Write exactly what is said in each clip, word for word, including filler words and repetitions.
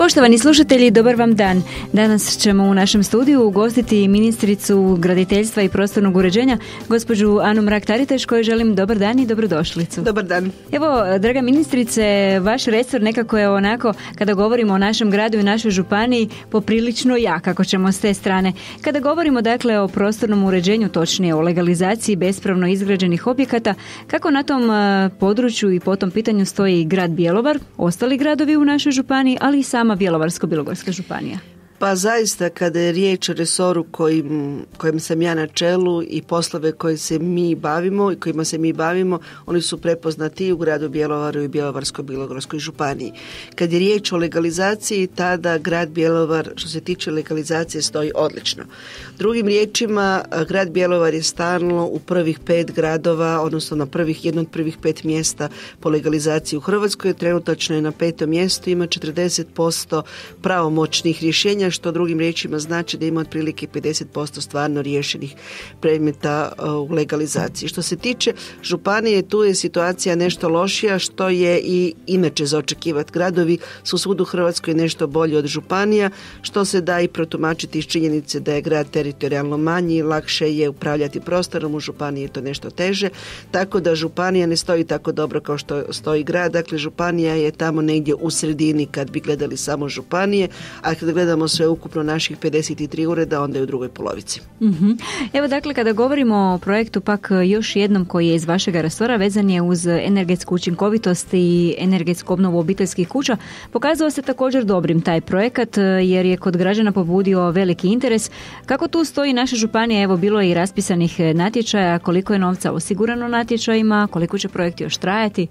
Poštovani slušatelji, dobar vam dan. Danas ćemo u našem studiju ugostiti ministricu graditeljstva i prostornog uređenja, gospođu Anu Mrak-Taritaš, kojoj želim dobar dan i dobrodošlicu. Dobar dan. Evo, draga ministrice, vaš resor nekako je onako, kada govorimo o našem gradu i našoj županiji, poprilično jak, ako ćemo s te strane. Kada govorimo dakle o prostornom uređenju, točnije o legalizaciji bespravno izgrađenih objekata, kako na tom području i po tom pitanju stoji grad Bjelovar, ostali gradovi u našoj županiji, ali i sama Bjelovarsko-bilogorska županija? Pa zaista kada je riječ o resoru kojim, kojim sam ja na čelu i poslove koje se mi bavimo i kojima se mi bavimo, oni su prepoznati i u gradu Bjelovaru i Bjelovarsko-bilogorskoj županiji. Kad je riječ o legalizaciji, tada grad Bjelovar što se tiče legalizacije stoji odlično. Drugim riječima, grad Bjelovar je stalno u prvih pet gradova, odnosno na prvih, jedno od prvih pet mjesta po legalizaciji u Hrvatskoj. Trenutačno je na petom mjestu, ima četrdeset posto pravomoćnih rješenja, što drugim riječima znači da ima otprilike pedeset posto stvarno riješenih predmeta u legalizaciji. Što se tiče županije, tu je situacija nešto lošija, što je i inače za očekivati. Gradovi su svud u Hrvatskoj nešto bolji od županija, što se da i protumačiti iz činjenice da je grad teritorijalno manji, lakše je upravljati prostorom, u županiji je to nešto teže, tako da županija ne stoji tako dobro kao što stoji grad. Dakle, županija je tamo negdje u sredini kad bi gledali samo županije, a kad gledamo sve ukupno naših pedeset tri ureda, onda je u drugoj polovici. Uh-huh. Evo dakle, kada govorimo o projektu pak još jednom koji je iz vašega resora, vezan je uz energetsku učinkovitost i energetsku obnovu obiteljskih kuća, pokazao se također dobrim taj projekat jer je kod građana pobudio veliki interes. Kako tu stoji naša županija? Evo, bilo je i raspisanih natječaja, koliko je novca osigurano natječajima, koliko će projekt još trajati?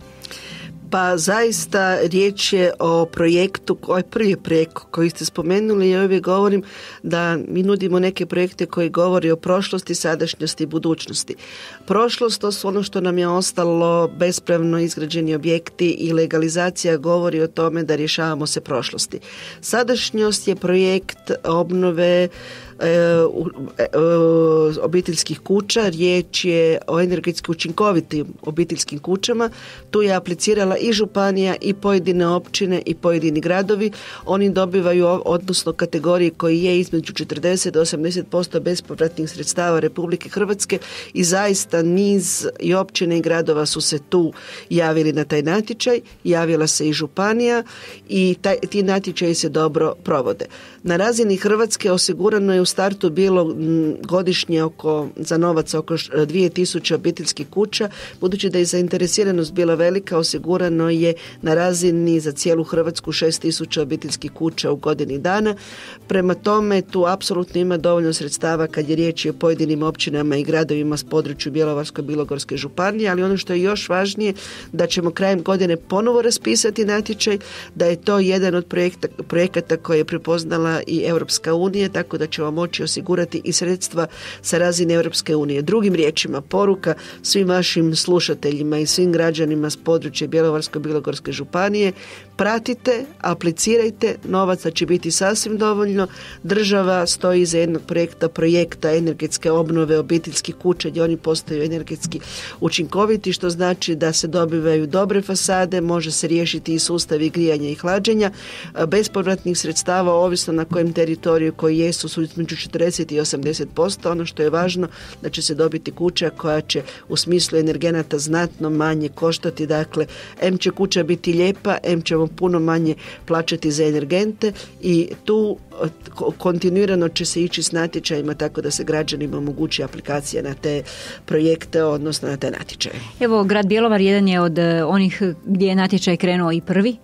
Pa zaista riječ je o projektu, ovaj prvi projekt koji ste spomenuli. Ja uvijek govorim da mi nudimo neke projekte koji govori o prošlosti, sadašnjosti i budućnosti. Prošlost, to su ono što nam je ostalo, bespravno izgrađeni objekti i legalizacija govori o tome da rješavamo se prošlosti. Sadašnjost je projekt obnove E, e, obiteljskih kuća, riječ je o energetski učinkovitim obiteljskim kućama. Tu je aplicirala i županija i pojedine općine i pojedini gradovi. Oni dobivaju, odnosno kategorije koji je između četrdeset do osamdeset posto bespovratnih sredstava Republike Hrvatske i zaista niz i općine i gradova su se tu javili na taj natječaj, javila se i županija i taj, ti natječaji se dobro provode. Na razini Hrvatske osigurano je u startu bilo godišnje oko, za novac oko dvije tisuće obiteljskih kuća. Budući da je zainteresiranost bila velika, osigurano je na razini za cijelu Hrvatsku šest tisuća obiteljskih kuća u godini dana. Prema tome, tu apsolutno ima dovoljno sredstava kad je riječ o pojedinim općinama i gradovima s području Bjelovarsko-bilogorske županije, ali ono što je još važnije, da ćemo krajem godine ponovo raspisati natječaj, da je to jedan od projekta, projekata koje je prepoznala i Europska unija, tako da ćemo moći osigurati i sredstva sa razine Europske unije. Drugim riječima, poruka svim vašim slušateljima i svim građanima s područja Bjelovarsko-bilogorske županije, pratite, aplicirajte, novaca će biti sasvim dovoljno. Država stoji iza jednog projekta, projekta energetske obnove obiteljskih kuća gdje oni postaju energetski učinkoviti, što znači da se dobivaju dobre fasade, može se riješiti i sustavi grijanja i hlađenja. Bespovratnih sredstava, ovisno na kojem teritoriju koji jesu, su između četrdeset i osamdeset posto. Ono što je važno, da će se dobiti kuća koja će u smislu energenata znatno manje koštati. Dakle, em će kuća biti lijepa, em ćemo puno manje plaćati za energente i tu kontinuirano će se ići s natječajima tako da se građanima omogući aplikacija na te projekte, odnosno na te natječaje. Evo, grad Bjelovar jedan je od onih gdje je natječaj krenuo i prvi.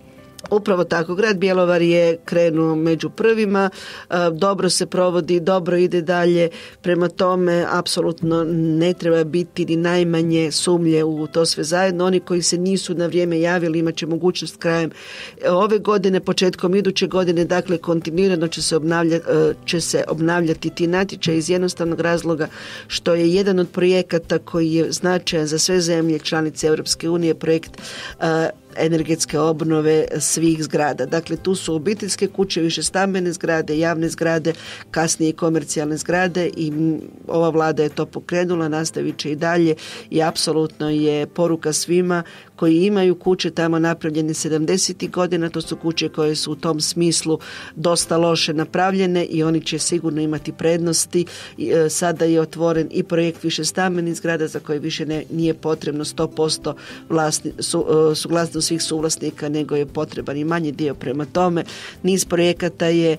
Upravo tako, grad Bjelovar je krenuo među prvima, dobro se provodi, dobro ide dalje, prema tome apsolutno ne treba biti ni najmanje sumnje u to sve zajedno. Oni koji se nisu na vrijeme javili imat će mogućnost krajem ove godine, početkom iduće godine, dakle kontinuirano će se obnavljati, će se obnavljati ti natječaji iz jednostavnog razloga što je jedan od projekata koji je značajan za sve zemlje članice Europske unije, projekt energetske obnove svih zgrada. Dakle, tu su obiteljske kuće, više stambene zgrade, javne zgrade, kasnije i komercijalne zgrade i ova vlada je to pokrenula, nastavit će i dalje i apsolutno je poruka svima koji imaju kuće tamo napravljene sedamdesetih godina, to su kuće koje su u tom smislu dosta loše napravljene i oni će sigurno imati prednosti. Sada je otvoren i projekt višestambenih zgrada za koje više ne, nije potrebno sto posto vlasni, su, suglasnost svih suvlasnika, nego je potreban i manji dio. Prema tome, niz projekata je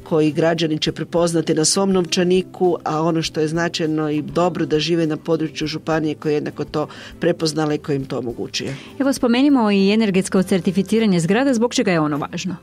koji građani će prepoznati na svom novčaniku, a ono što je značajno i dobro da žive na području županije koje je jednako to prepoznala i koje im to omogućuje. Evo spomenimo i energetsko certificiranje zgrada, zbog čega je ono važno?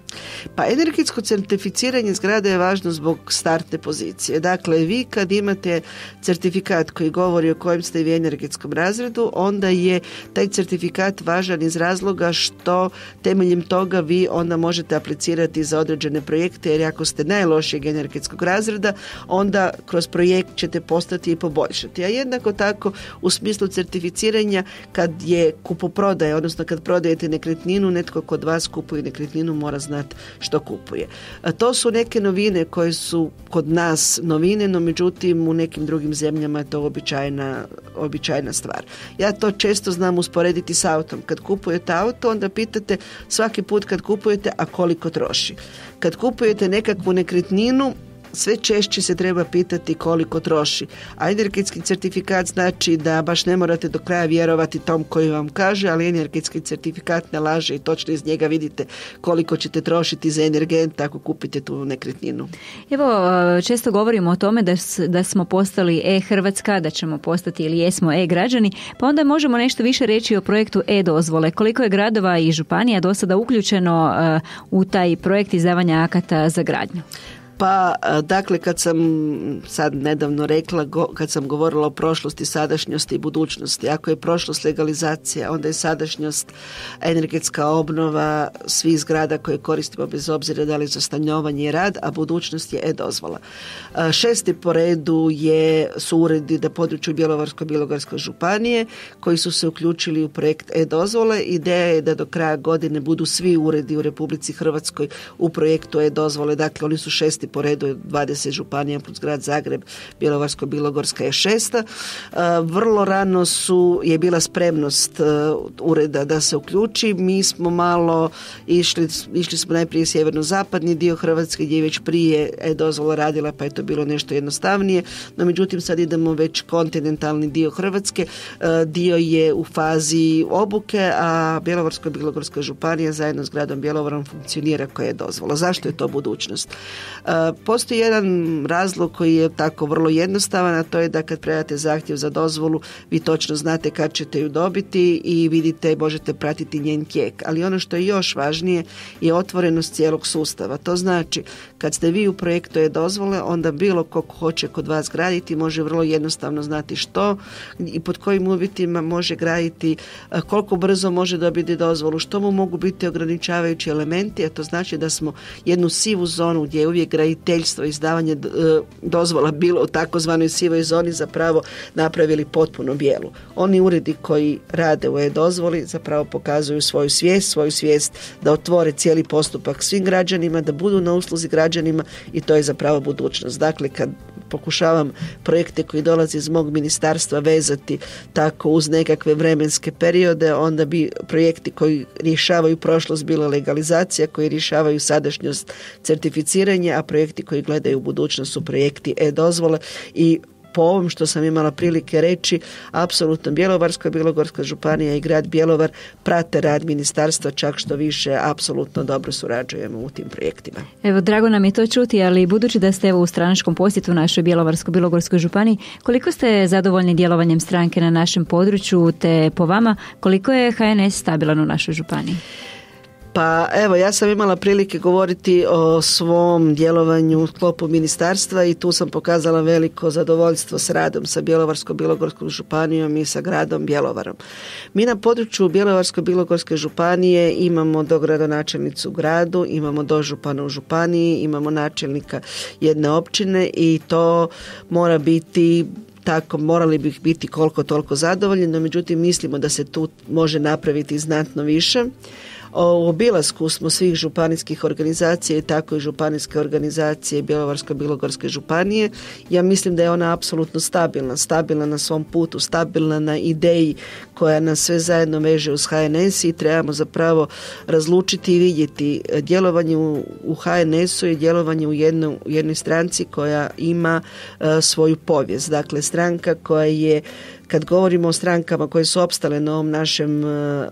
Pa energetsko certificiranje zgrada je važno zbog startne pozicije. Dakle, vi kad imate certifikat koji govori o kojem ste vi energetskom razredu, onda je taj certifikat važan iz razloga što temeljem toga vi onda možete aplicirati za određene projekte, jer ako ste najlošijeg energetskog razreda, onda kroz projekt ćete postati i poboljšati. A jednako tako u smislu certificiranja kad je kupoprodaja, odnosno kad prodajete nekretninu, netko kod vas kupuje nekretninu mora znati što kupuje. A to su neke novine koje su kod nas novine, no međutim u nekim drugim zemljama je to običajna, običajna stvar. Ja to često znam usporediti s autom. Kad kupujete auto, onda pitate svaki put kad kupujete, a koliko troši. Kad kupujete nekakvu nekretninu, sve češće se treba pitati koliko troši. A energetski certifikat znači da baš ne morate do kraja vjerovati tom koji vam kaže, ali energetski certifikat ne laže i točno iz njega vidite koliko ćete trošiti za energent ako kupite tu nekretninu. Evo, često govorimo o tome da, da smo postali e-Hrvatska, da ćemo postati ili jesmo e-građani, pa onda možemo nešto više reći o projektu e-dozvole. Koliko je gradova i županija do sada uključeno uh, u taj projekt izdavanja akata za gradnju? Pa, dakle, kad sam sad nedavno rekla, kad sam govorila o prošlosti, sadašnjosti i budućnosti, ako je prošlost legalizacija, onda je sadašnjost energetska obnova svih zgrada koje koristimo bez obzira da li za stanovanje i rad, a budućnost je e-dozvola. Šesti po redu je, su uredi na području Bjelovarsko-bilogorske županije koji su se uključili u projekt e-dozvole. Ideja je da do kraja godine budu svi uredi u Republici Hrvatskoj u projektu e-dozvole, dakle oni su šesti po redu, dvadeset županija plus grad Zagreb, Bjelovarsko-bilogorska je šesta. Vrlo rano su, je bila spremnost ureda da se uključi. Mi smo malo išli, išli smo najprije sjeverno-zapadni dio Hrvatske gdje je već prije e-dozvola radila, pa je to bilo nešto jednostavnije, no međutim sad idemo već kontinentalni dio Hrvatske. Dio je u fazi obuke, a Bjelovarsko-bilogorska županija zajedno s gradom Bjelovarom funkcionira koja je dozvola. Zašto je to budućnost? Postoji jedan razlog koji je tako vrlo jednostavan, a to je da kad predate zahtjev za dozvolu, vi točno znate kad ćete ju dobiti i vidite, možete pratiti njen tijek. Ali ono što je još važnije je otvorenost cijelog sustava. To znači, kad ste vi u projektu e-dozvole, onda bilo ko hoće kod vas graditi može vrlo jednostavno znati što i pod kojim uvjetima može graditi, koliko brzo može dobiti dozvolu, što mu mogu biti ograničavajući elementi, a to znači da smo jednu sivu zonu gdje je uvijek graditeljstvo, izdavanje dozvola bilo u takozvanoj sivoj zoni zapravo napravili potpuno bijelu. Oni uredi koji rade u e-dozvoli zapravo pokazuju svoju svijest, svoju svijest da otvore cijeli postupak svim građanima, da budu na usluzi građanima i to je zapravo budućnost. Dakle, kad pokušavam projekte koji dolaze iz mog ministarstva vezati tako uz nekakve vremenske periode, onda bi projekti koji rješavaju prošlost bila legalizacija, koji rješavaju sadašnjost certificiranja, a projekti koji gledaju u budućnost su projekti e-dozvole i po ovom što sam imala prilike reći, apsolutno Bjelovarsko-bilogorska županija i grad Bjelovar prate rad ministarstva, čak što više apsolutno dobro surađujemo u tim projektima. Evo, drago nam je to čuti, ali budući da ste evo u stranačkom posjetu našoj Bjelovarsko-bilogorskoj županiji, koliko ste zadovoljni djelovanjem stranke na našem području, te po vama koliko je H N S stabilan u našoj županiji? Pa evo, ja sam imala prilike govoriti o svom djelovanju u sklopu ministarstva i tu sam pokazala veliko zadovoljstvo s radom sa Bjelovarsko-bilogorskom županijom i sa gradom Bjelovarom. Mi na području Bjelovarsko-bilogorske županije imamo dogradonačelnicu u gradu, imamo dožupana u županiji, imamo načelnika jedne općine i to mora biti tako, morali bi biti koliko toliko zadovoljni, no međutim mislimo da se tu može napraviti znatno više. U obilasku smo svih županijskih organizacija i tako i županijske organizacije Bjelovarsko-bilogorske županije. Ja mislim da je ona apsolutno stabilna, stabilna na svom putu, stabilna na ideji koja nas sve zajedno veže uz H N S i trebamo zapravo razlučiti i vidjeti djelovanje u, u H N S-u i djelovanje u, jedno, u jednoj stranci koja ima uh, svoju povijest. Dakle, stranka koja je, kad govorimo o strankama koje su opstale na ovom našem uh,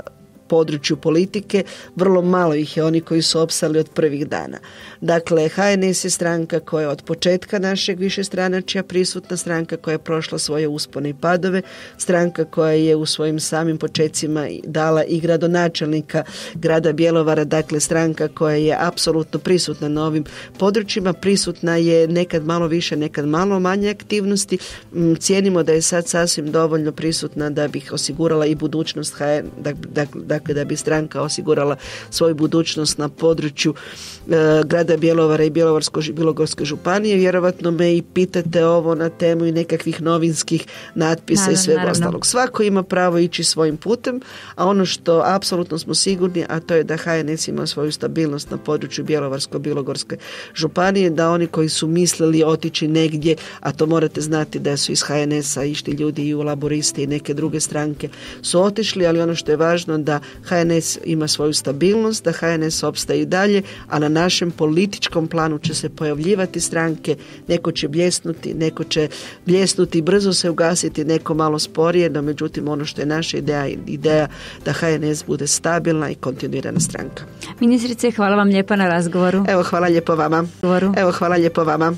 području politike, vrlo malo ih je oni koji su opstali od prvih dana. Dakle, H N S je stranka koja je od početka našeg višestranačja prisutna, stranka koja je prošla svoje uspone i padove, stranka koja je u svojim samim počecima dala i gradonačelnika grada Bjelovara, dakle stranka koja je apsolutno prisutna na ovim područjima, prisutna je nekad malo više, nekad malo manje aktivnosti. Cijenimo da je sad sasvim dovoljno prisutna da bi osigurala i budućnost H N S, dakle, dakle da bi stranka osigurala svoju budućnost na području e, grada Bjelovara i Bjelovarsko-bilogorske županije. Vjerovatno me i pitate ovo na temu i nekakvih novinskih natpisa naravno, i svega naravno. ostalog. Svako ima pravo ići svojim putem, a ono što apsolutno smo sigurni, a to je da H N S ima svoju stabilnost na području Bjelovarsko-bilogorske županije, da oni koji su mislili otići negdje, a to morate znati da su iz H N S-a išli ljudi i u Laboristi i neke druge stranke su otišli, ali ono što je važno da H N S ima svoju stabilnost, da H N S opstaje i dalje, a na našem političkom planu će se pojavljivati stranke, neko će bljesnuti, neko će bljesnuti i brzo se ugasiti, neko malo sporije, no međutim ono što je naša ideja, ideja da H N S bude stabilna i kontinuirana stranka. Ministrice, hvala vam lijepa na razgovoru. Evo, hvala lijepo vama. Evo, hvala lijepo vama.